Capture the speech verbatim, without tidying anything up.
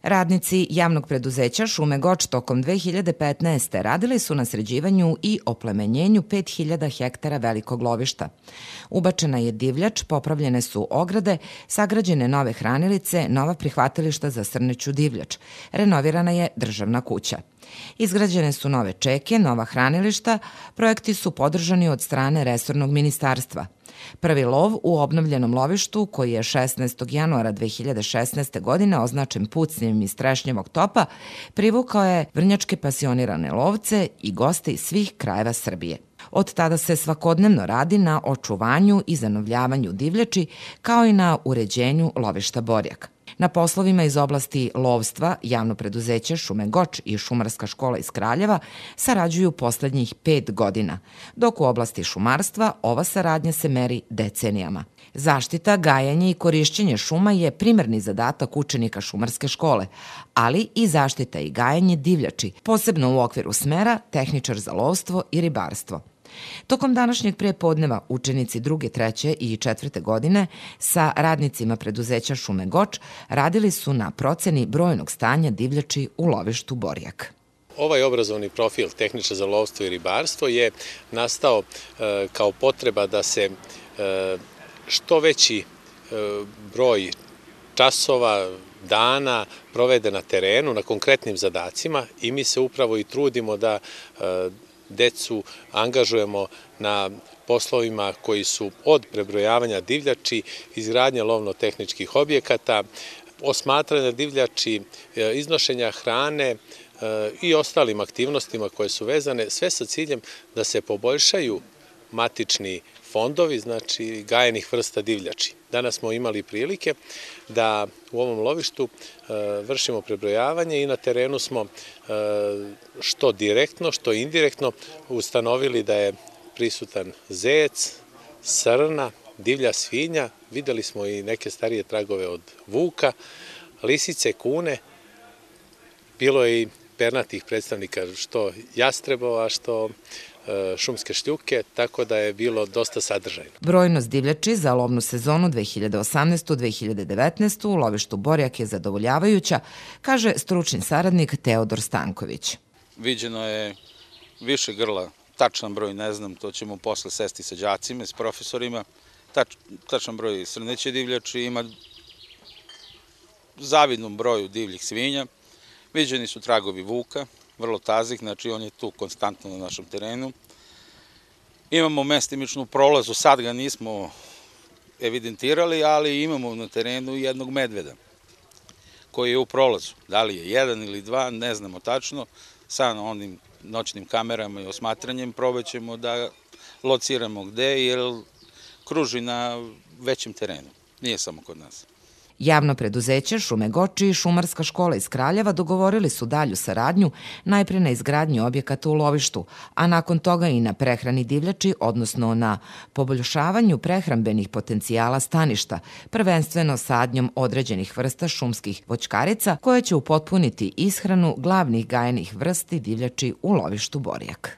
Radnici javnog preduzeća Šume Goč tokom dve hiljade petnaeste. radili su na sređivanju i oplemenjenju pet hiljada hektara velikog lovišta. Ubačena je divljač, popravljene su ograde, sagrađene nove hranilice, nova prihvatilišta za srneću divljač. Renovirana je državna kuća. Izgrađene su nove čeke, nova hranilišta, projekti su podržani od strane resornog ministarstva. Prvi lov u obnovljenom lovištu, koji je šesnaestog januara dve hiljade šesnaeste. godine označen pucnjem iz trešnjevog topa, privukao je vrnjačke pasionirane lovce i goste iz svih krajeva Srbije. Od tada se svakodnevno radi na očuvanju i zanovljavanju divljači, kao i na uređenju lovišta Borjak. Na poslovima iz oblasti lovstva javno preduzeće Šume Goč i Šumarska škola iz Kraljeva sarađuju poslednjih pet godina, dok u oblasti šumarstva ova saradnja se meri decenijama. Zaštita, gajanje i korišćenje šuma je primarni zadatak učenika Šumarske škole, ali i zaštita i gajanje divljači, posebno u okviru smera tehničar za lovstvo i ribarstvo. Tokom današnjeg prepodneva učenici druge, treće i četvrte godine sa radnicima preduzeća Šume Goč radili su na proceni brojnog stanja divljači u lovištu Borjak. Ovaj obrazovni profil tehničar za lovstvo i ribarstvo je nastao e, kao potreba da se e, što veći e, broj časova, dana provede na terenu, na konkretnim zadacima i mi se upravo i trudimo da e, decu angažujemo na poslovima koji su od prebrojavanja divljači, izgradnje lovno-tehničkih objekata, osmatranja divljači, iznošenja hrane i ostalim aktivnostima koje su vezane, sve sa ciljem da se poboljšaju matični fondovi, znači gajenih vrsta divljači. Danas smo imali prilike da u ovom lovištu vršimo prebrojavanje i na terenu smo što direktno, što indirektno ustanovili da je prisutan zec, srna, divlja svinja, videli smo i neke starije tragove od vuka, lisice, kune, bilo je i pernatih predstavnika, što jastrebova, što šumske šljuke, tako da je bilo dosta sadržajno. Brojnost divljači za lovnu sezonu dve hiljade osamnaeste. dve hiljade devetnaeste. u lovištu Borjak je zadovoljavajuća, kaže stručni saradnik Teodor Stanković. Viđeno je više grla, tačan broj ne znam, to ćemo posle sesti sa đacima, s profesorima. Tač, tačan broj srneće divljači, ima zavidnom broju divljih svinja. Viđeni su tragovi vuka, vrlo tazih, znači on je tu konstantno na našem terenu. Imamo mestimičnu prolazu, sad ga nismo evidentirali, ali imamo na terenu jednog medveda koji je u prolazu. Da li je jedan ili dva, ne znamo tačno. Sa onim noćnim kamerama i osmatranjem probaćemo da lociramo gde, jer kruži na većem terenu, nije samo kod nas. Javno preduzeće Šume Goč i Šumarska škola iz Kraljeva dogovorili su dalju saradnju najpre na izgradnji objekata u lovištu, a nakon toga i na prehrani divljači, odnosno na poboljšavanju prehrambenih potencijala staništa, prvenstveno sadnjom određenih vrsta šumskih voćkarica koje će upotpuniti ishranu glavnih gajenih vrsti divljači u lovištu Borjak.